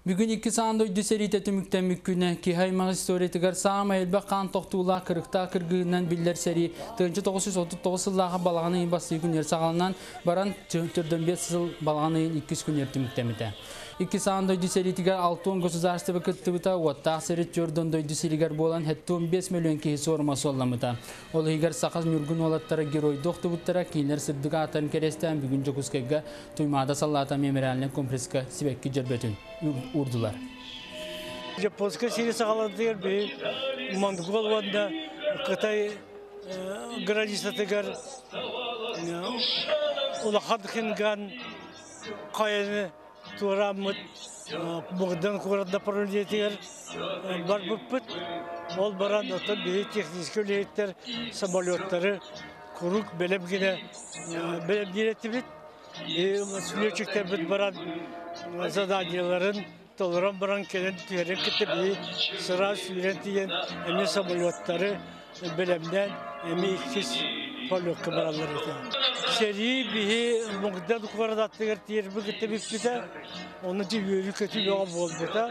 Бүгүн Иккис аан дойду сэриитэ түмүктэммит күнэ. Киһи аймах историятыгар саамай элбэх хаан тохтуулаах кырыктаах кыргыһыынан биллэр сэрии 1939 сыллааҕы балаҕан ыйын бастакы күнүгэр саҕаланан баран 45 сыл балаҕан ыйын иккис күнүгэр түмүктэммитэ. Иккис аан дойду сэриитигэр 60 государство кыттыбыта, уоттаах сэрии 4 дойду сиригэр буолан 75 миллион киһи суорума суолламмыта. Ол иһигэр саха ньургун уолаттара геройдуу охтубуттара, кинилэр сырдык ааттарын кэриэстээн бүгүн Дьокуускайга Туймаада саллаата мемориальнай комплекска сибэкки дьөрбөтүн уурдулар. Японскай сири саҕаланытыгар биһи Монгол уонна Кытай границатыгар улахан Хинган хайаны туорааммыт Богдан куорат направлениетигэр барбыппыт. Ол баран оттон биһи техническэй үлэһиттэр самолеттары куруук бэлэм гинэ бэлэмниир этибит. Летчиктэрбит баран заданиеларын толорон баран кэлэн түһэрин кытта биһи сыраас сүүрэн тиийэн эмиэ самолеттары бэлэмнээн эмиэ иккис полетка бараллар этэ. Сэрии биһи Мугдан куорат аттыгар тиэрбит кытта бүппүтэ, ону үөрүү-көтүү бөҕө буолбута.